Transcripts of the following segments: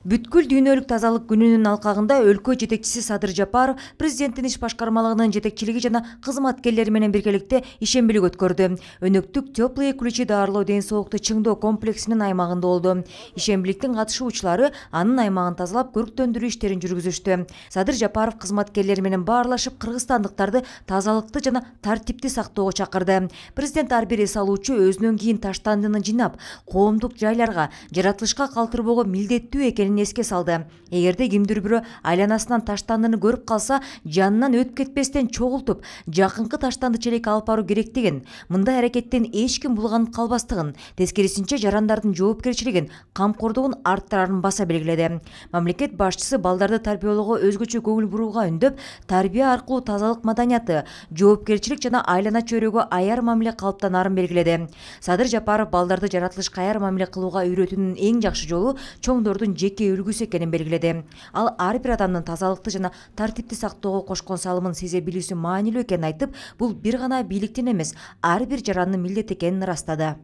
Бүткүл дүйнөлүк тазалык күнүнүн алкагында өлкө жетекчиси Садыр Жапаров президенттин иш башкармалыгынын жетекчилиги жана кызматкерлери менен биргеликте ишембилик өткөрдү. Өнөктүк теплые ключи дарылоо ден соолукту чыңдоо комплексинин аймагында болду. Ишембиликтин катышуучулары анын аймагын тазалап, көрктөндүрүү иштерин жүргүзүштү. Садыр Жапаров кызматкерлери менен баарлашып, кыргызстандыктарды тазалыкты жана тартипти сактоого чакырды. Президент ар бир эс алуучу өзүнөн кийин таштандыны жыйнап, коомдук жайларга, жаратылышка калтырбоого милдеттүү экенин эске салды. Эгерде кимдир бирөө айланасынан таштандыны көрүп калса, жанынан өтүп кетпестен чогултуп, жакынкы таштанды челекке алып баруу керектигин, мындай аракеттен эч ким булганып калбастыгын, тескерисинче жарандардын жоопкерчилигин, камкордугун арттырарын баса белгиледи. Мамлекет башчысы балдарды тарбиялоого өзгөчө көңүл бурууга үндөп, тарбия аркылуу тазалык маданияты, жоопкерчилик жана айлана чөйрөгө аяр мамиле калыптанарын белгиледи. Садыр Жапаров балдарды жаратылышка аяр мамиле кылууга үйрөтүүнүн эң жакшы жолу чоңдордун жеке үлгүсү экенин белгиледи. Ал ар бир адамдын тазалыкты жана тартипти сактоого кошкон салымын сезе билүүсү маанилүү экенин айтып, бул бир гана бийликтин эмес, ар бир жарандын милдети экенин ырастады.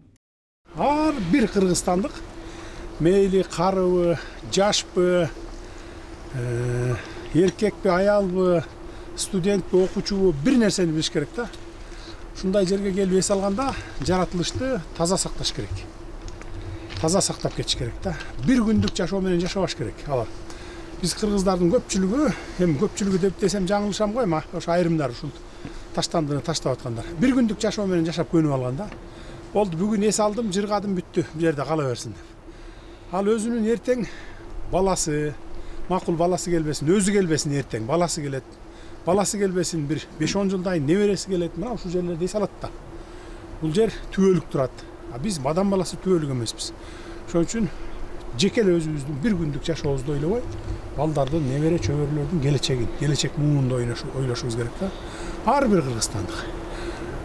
Ар бир кыргызстандык мейли карыбы, жашпы, эркекпи, аялбы, студентпи, окуучубу бир нерсени билиш керек да. Ушундай жерге келип эс алганда жаратылышты таза сакташ керек. Таза сактап кетиш керек да. Бир күндүк жашоо менен жашабаш керек алар. Биз кыргыздардын көпчүлүгү, эми көпчүлүгү деп десем жаңылышам го, эми ошо айрымдар ушул таштандыны таштап аткандар. Бир күндүк жашоо менен жашап көнүп алган да. Болду, бүгүн эс алдым, жыргадым, бүттү, бул жерде кала берсин деп. Ал өзүнүн эртең баласы, макул баласы келбесин, өзү келбесин эртең, баласы келет. Баласы келбесин, бир 5-10 жылдан кийин небереси келет, мына ушул жерлерде эс алат да. Бул жер түбөлүк турат. Биз мадан баласы түбөлүк эмеспиз. Ошон үчүн жеке эле өзүбүздүн бир күндүк жашообузду ойлобой, балдардын, небере чөбөрөлөрдүн келечегин, келечек муунду ойлошубуз керек да. Ар бир кыргызстандык.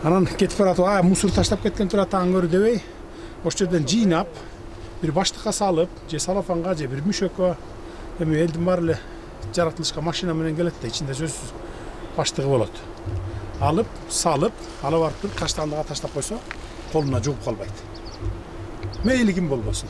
Анан кетип баратып, мусор таштап кеткен турат аңгөрү дебей, ошол жерден жыйнап, бир баштыкка салып, же салафанга, же бир мүшөккө, эми элдин баары эле жаратылышка машина менен келет да, ичинде сөзсүз баштыгы болот. Алып, салып, ала барып туруп таштандыга таштап койсо, колуна жугуп калбайт. Мейли ким болбосун.